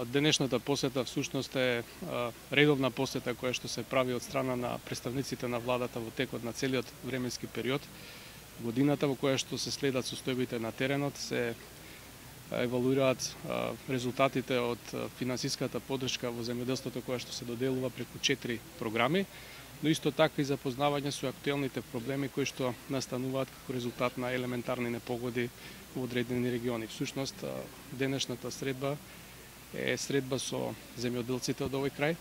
Денешната посета всушност е редовна посета која што се прави од страна на представниците на владата во текот на целиот временски период. Годината во која што се следат состојбите на теренот, се евалуираат резултатите од финансиската поддршка во земјоделството која што се доделува преку 4 програми, но исто така и запознавање со актуелните проблеми кои што настануваат како резултат на елементарни непогоди во одредени региони. Всушност, денешната средба е средба со земјоделците од овој крај,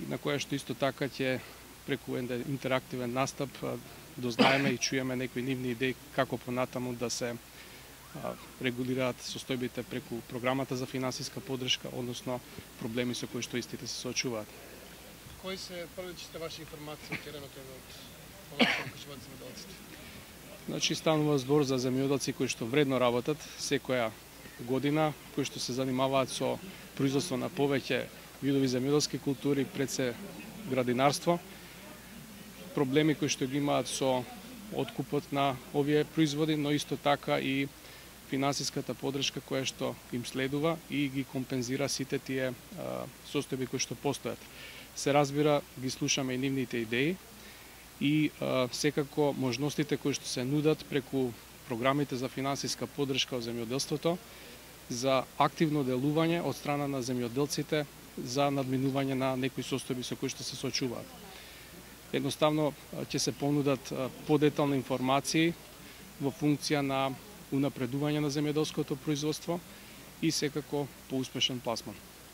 на која што исто така ќе преку интерактивен настап дознаеме и чуеме некои нивни идеи како понатаму да се регулираат состојбите преку програмата за финансиска поддршка, односно проблеми со кои што истите се соочуваат. Кои се првичните ваши информации од теренот од земјоделците? Значи, станува збор за земјоделци кои што вредно работат секоја година, кои што се занимаваат со производство на повеќе видови земјоделски култури, пред се градинарство, проблеми кои што ги имаат со откупот на овие производи, но исто така и финансиската поддршка која што им следува и ги компензира сите тие состојби кои што постојат. Се разбира, ги слушаме и нивните идеи и секако можностите кои што се нудат преку програмите за финансиска поддршка во земјоделството за активно делување од страна на земјоделците за надминување на некои состојби со кои што се соочуваат. Едноставно ќе се понудат подетални информации во функција на унапредување на земјоделското производство и секако поуспешен пласман.